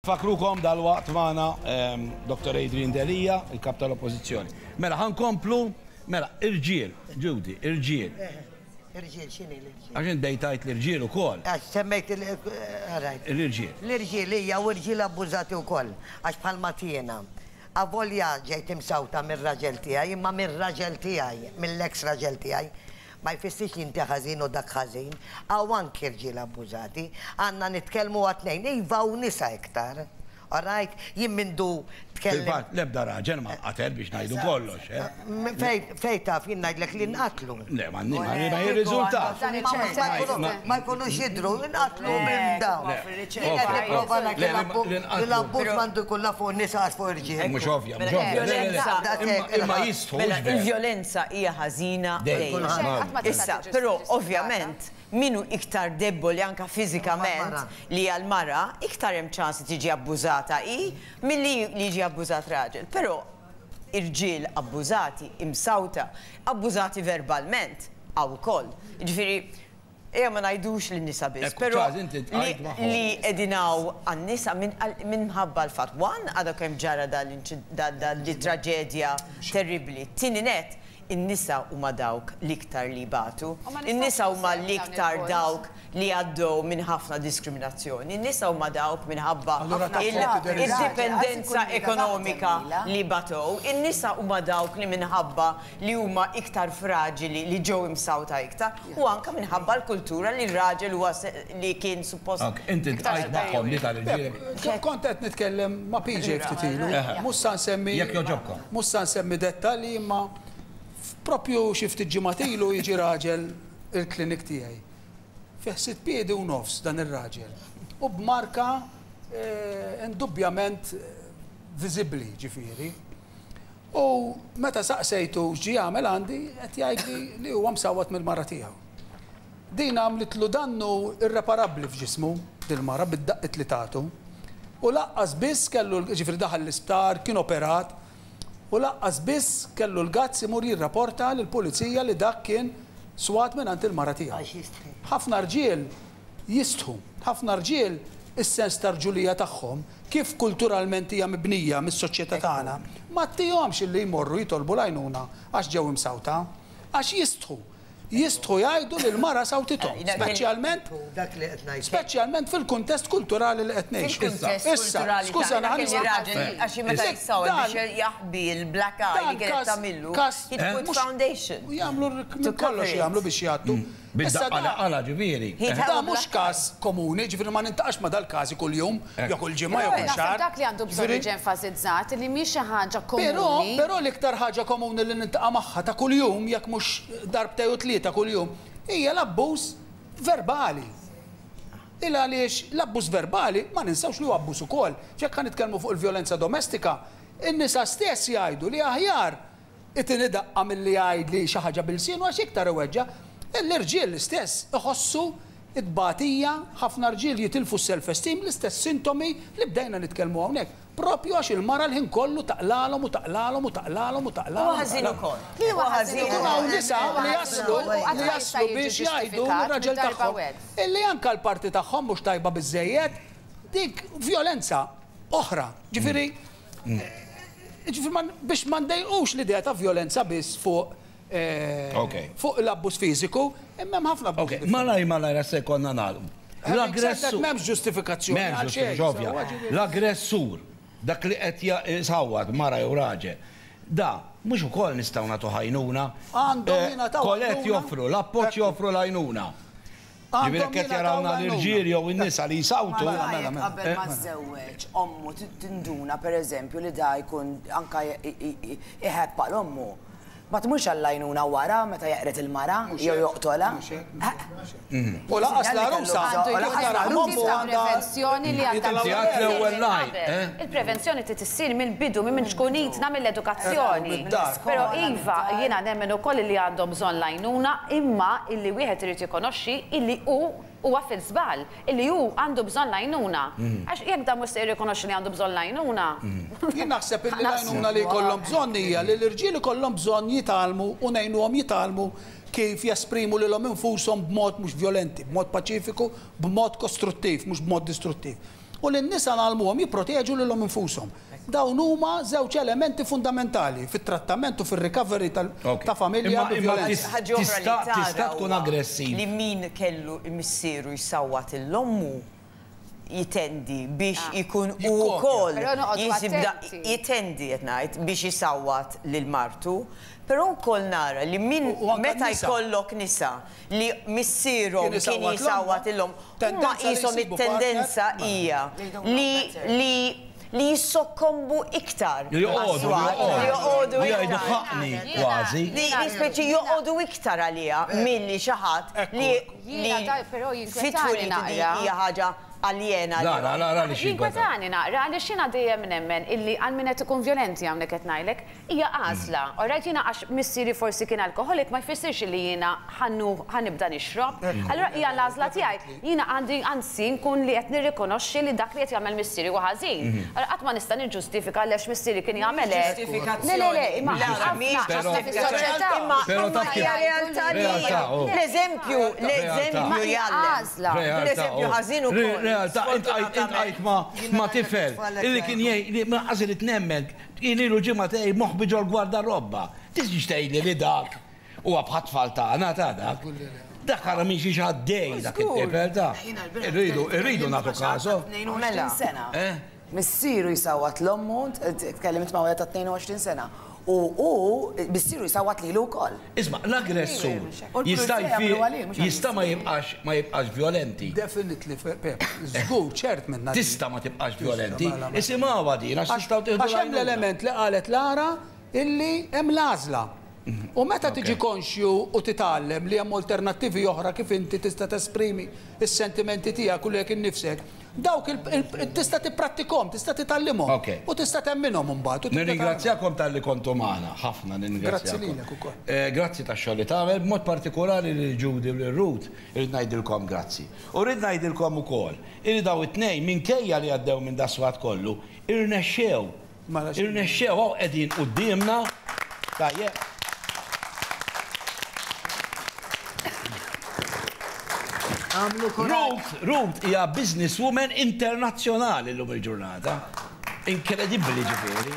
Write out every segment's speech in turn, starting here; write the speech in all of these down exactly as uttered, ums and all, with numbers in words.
Fakrukom dal-waqt magħna ehm, Dottor Adrian Delia, il-kap tal-Oppożizzjoni. Mela, ħa nkomplu, mela, irġiel, Judy, irġiel. Irġiel, x'inhi l-irġiel? Għax int bdejt l-irġiel ukoll. Għax semmejt il- L-irġiel. L-irġiel hija u irġiel abbużati wkoll, għax bħalma tiena. Avolja ġejt imsawta mir-raġel tiegħi, imma mir-raġel tiegħi, mill-ex raġel tiegħi, ma jfissirx li inti ħażin u dak ħażin, hawn anki irġiel abbużati, għandna nitkellmu għat-tnejn, iva u nisa iktar. Alright, jien mindu tkellem. Fil-fatt, l-ebda raġel ma qatel biex ngħidu kollox. eh? Fej fej taf jien ngħidlek li nqatlu. Le, ma ma jirriżulta. Ma- Ma jkunux jidru, nqatlu minn dawn. Le, Jien qed nipprova ngħid Le, li l-abbu- li nqatlu. li l-abbuż m'għandu jkun la fuq nisa għax fuq irġiel. Mhux ovvja, mhux ovvja. Le, le, le. Daqshekk, Imma- Imma jistħu, Mela, mhux vera. il-vjolenza hija ħażina Dejjem. dejjem. Ma tista' Issa, tiġi però ġustifikata. ovvjament minu iktar deboli anka fiżikament Mara. li għal-mara, iktar hemm ċans li tiġi abbużata i milli li jiġi abbużat raġel. Però irġiel abbużati, imsawta, abbużati verbalment, hawn ukoll. Ġifieri, ejja ma ngħidux lin-nisa biss, Ekku, però Charles, inti li tqajt magħhom. li edinaw għan-nisa minħabba l-fatt. One, għadha kemm ġara dal traġedja terribli. Tieni net, in-nisa huma dawk l-iktar li batu. U ma nistgħux In-nisa huma ninsew dawn l-iktar il-points. dawk li għaddew minn ħafna diskriminazzjoni. In-nisa huma dawk minħabba Allura ta' il- forti der- il-dipendenza Għax ikun ekonomika taħt li batow. In-nisa huma dawk li minħabba li huma iktar fraġili li ġew imsawta iktar u anka minħabba l-kultura li r-raġel huwa se- li kien suppost Ok, Inti tqajt magħhom li tal-irġiel. Kont qed nitkellem ma' P J ftit ilu, mhux sa nsemmi. Jekk jogħġobkom. Mhux sa nsemmi dettalji, imma propju xi ftit ġimgħat ilu jiġi raġel il-klinik tiegħi. Fih sitt piedi u nofs dan ir-raġel. U b'marka eh, indubjament viżibbli, ġifieri. U meta saqsejtu x'ġi jagħmel għandi, qed jgħidli li huwa msawwat mill-mara tiegħu. Din għamlitlu dannu irreparabbli f'ġismu, dil-mara, bid-daqqit li tagħtu. U lanqas biss kellu, ġifieri daħal l-isptar, kien operat, u lanqas biss kellu l-guts imur jirrapporta lill-pulizija li dak kien swat minn għand il-mara tiegħu. Għax jistħi. Ħafna rġiel jistħu, ħafna rġiel is-sens tar-rġulija tagħhom kif kulturalment hija mibnija mis-soċjetà tagħna, ma ttihomx illi jmorru jitolbu l-għajnuna għax ġew imsawta, għax jistħu. Jistħu jgħidu li l-mara sawtithom, speċjalment Dak li qed ngħid. speċjalment fil-kuntest kulturali li qed ngħixu. Fil-kuntest Issa, kulturali skuża, tagħna ħa kelli nisma' raġel għax meta Issa, jissawar dan- biex jaħbi l-black eye li Dan kienet kas- tagħmillu, kas- he'd put mhux- foundation. U jagħmlu To minn kollox cover it. jagħmlu biex jgħattu. Issa Bid-daqqa da- għala ġifieri. He'd have Da a mhux black każ komuni, ġifieri ma nintaqax ma dal-każi kuljum, jew kull ġimgħa jew kull Naħseb xahar. dak li għandu bżonn Ġifieri- jiġi enfasizzat li mhix xi ħaġa Però, komuni. però l-iktar ħaġa komuni li nintaqa' magħha ta' kuljum, jekk mhux darbtej u tlieta kuljum, hija l-abbuż verbali. Il għaliex l-abbuż verbali ma ninsawx li huwa abbuż ukoll. Jekk ħa nitkellmu fuq il-vjolenza domestika, in-nisa stess jgħidu li aħjar itini daqqa milli jgħid li xi ħaġa b'ilsienu għax iktar iweġġa. L-irġiel l-istess iħossu it-tbatija, ħafna rġiel jitilfu self-esteem, l-istess sintomi li bdejna nitkellmu hawnhekk. Propju għax il-mara l-ħin kollu taqlalhom u taqlalhom u taqlalhom u taqlalhom. Huwa ħażin ukoll. Li huwa ħażin Ikun hawn nisa li jaslu li jaslu biex jgħidu l-raġel tagħhom illi anka l-parti tagħhom mhux tajba biżejjed, dik vjolenza oħra. Ġifieri ġifieri ma- biex ma ndejqux l-idea ta' vjolenza biss fuq eh, Ok. fuq l-abbuż fiżiku, imma hemm ħafna abbuż Ok, differenti. malaj malaj se konna nagħlqu. L-aggressur. M'hemmx ġustifikazzjoni M'hemmx għal xejn, ġustifikazzjoni, ovvja. sewwa, ġifieri. L-aggressur, dak li qed jsawwat mara jew raġel, da, mhux ukoll nistgħu nagħtu għajnuna. Għandhom Eh, jingħataw Kolet għajnuna. joffru, l-appoġġ joffru l-għajnuna. Ġifieri Għandhom qed jingħataw jarawna l-għajnuna. l-irġiel jew in-nisa li jsawtu. Mela, Mela, mela, mela. qabel ma żewweġ, ommu tinduna per eżempju li da jkun anka iħebb għal ommu. Ma tmurx għall-għajnuna wara meta jeqret il-mara jew joqtola. U lanqas l-għarusa, Għandu U jkun lanqas hemm l-għarusa tip ta' prevenzjoni li għandha Inti għat l-ewwel minn line, qabel. eh? Il-prevenzjoni trid issir mill-bidu, minn ċkunitna, mill-edukazzjoni. Mid-dar. Però iva, jiena nemmen ukoll li għandhom bżonn l-għajnuna, imma illi wieħed irid jikonoxxi illi hu huwa fil-żball, illi hu għandu bżonn l-għajnuna. Għax jekk dan mhux se jirrikonoxxi li għandu bżonn l-għajnuna. Jien naħseb illi l-għajnuna li jkollhom bżonn hija li l-irġiel ikollhom bżonn jitgħallmu u ngħinuhom jitgħallmu kif jesprimu lilhom infushom b'mod mhux violenti, b'mod paċifiku, b'mod kostruttiv, mhux b'mod distruttiv. U lin-nisa ngħallmuhom jipproteġu lilhom infushom. Dawn huma żewġ elementi fundamentali fit-trattament u fir-recovery ta' familja bi violenza. Tista' tkun aggressiv. Li min kellu missieru jsawwat l-ommu jitendi biex ikun u wkoll jitendi qed ngħid biex jisawwat lil martu, però wkoll nara li min meta jkollok nisa li missierhom kien jisawwat illhom huma qishom it-tendenza hija li li li jissokkombu iktar. Li joqogħdu, li joqogħdu li jgħidu ħaqni kważi. Li speċi joqogħdu iktar għaliha milli xi ħadd li fit-twelid hija ħaġa aljena. La, la, la, li xi Jinkwetani naqra, għaliex jiena dejjem nemmen illi għal min qed ikun vjolenti hawnhekk qed ngħidlek, hija għażla. Alright, jiena għax missieri forsi kien alkoholik ma jfissirx li jiena ħanibda nixrob. Allura hija l-għażla tiegħi. Jiena għandi anzi nkun li qed nirrikonoxxi li dak li qed jagħmel missieri huwa ħażin. Allura qatt ma nista' niġġustifika għaliex missieri kien jagħmel hekk. Le, le, le, imma ħafna fis-soċjetà. Imma hija realtà li l-eżempju, l-eżempju jgħallem. L-eżempju ħażin ukoll. Realtà, intqajt ma tifel, illi kien jgħid, ma qas irid nemmen, kien ilu ġimgħa tgħid moħbi ġol gwardarobba. Tiġix tgħidli li dak huwa bħat-tfal tagħna ta' dak. Dak ara minn xi għaddej dak it-tifel ta'. Irridu, irridu nagħtu kasu. sena. Missieru jsawwat l-ommu, tkellimt ma' wieħed ta' tnejn u għoxrin sena. U hu missieru jsawwat lilu wkoll. Isma', l-aggressur jista' jista' ma jibqax ma jibqax violenti. Definitely, Pep, żgur ċert minna. Tista' ma tibqax violenti. Isimgħuha din għax tistgħu tieħdu. Għax hemm l-element li qalet Lara illi hemm l-għażla. U meta tiġi konxju u titgħallem li hemm alternattivi oħra kif inti tista' tesprimi s-sentimenti tiegħek u lilek innifsek, dawk tista' tipprattikhom, tista' titgħallimhom u tista' temminhom imbagħad. Nirringrazzjakom talli kontu magħna, ħafna nirringrazzjakom. Grazzi lilek ukoll. Grazzi tax-xogħol li tagħmel, b'mod partikolari lil Judy u lil Ruth, irrid ngħidilkom grazzi. U rrid ngħidilkom ukoll illi daw it-tnejn minkejja li għaddew minn daswat kollu, irnexxew. Irnexxew hawn qegħdin quddiemna. Tajjeb. Ruth, Ruth hija businesswoman internazzjonali llum il-ġurnata. Inkredibbli ġifieri.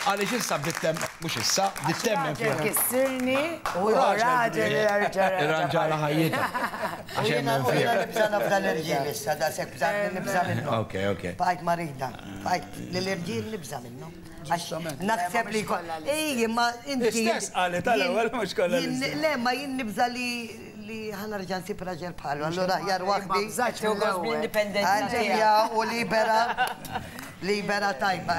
Għaliex issa bdiet mhux issa, bdiet temmen fiha. Kissirni u raġel irranġala ħajjitha. Għax hemmen fiha. Jiena nibża' nafda l-irġiel issa, daqshekk bża' nibża' minnhom. Ok, ok. Bqajt marida, bqajt lill-irġiel nibża' minnhom. Naħseb li ej, imma inti. Istess qalet tal-ewwel mhux kollha. Le, ma jien nibża' li li ħanerġa' nsib raġel bħalu, allura aħjar waħdi. Għalija u libera, libera tajba.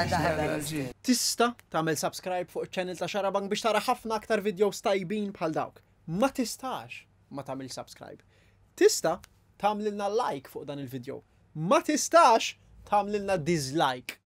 Tista' tagħmel subscribe fuq iċ-channel ta' Xarabank biex tara ħafna aktar videos tajbin bħal dawk. Ma tistax ma tagħmel subscribe. Tista' tagħmlilna like fuq dan il-video. Ma tistax tagħmlilna dislike.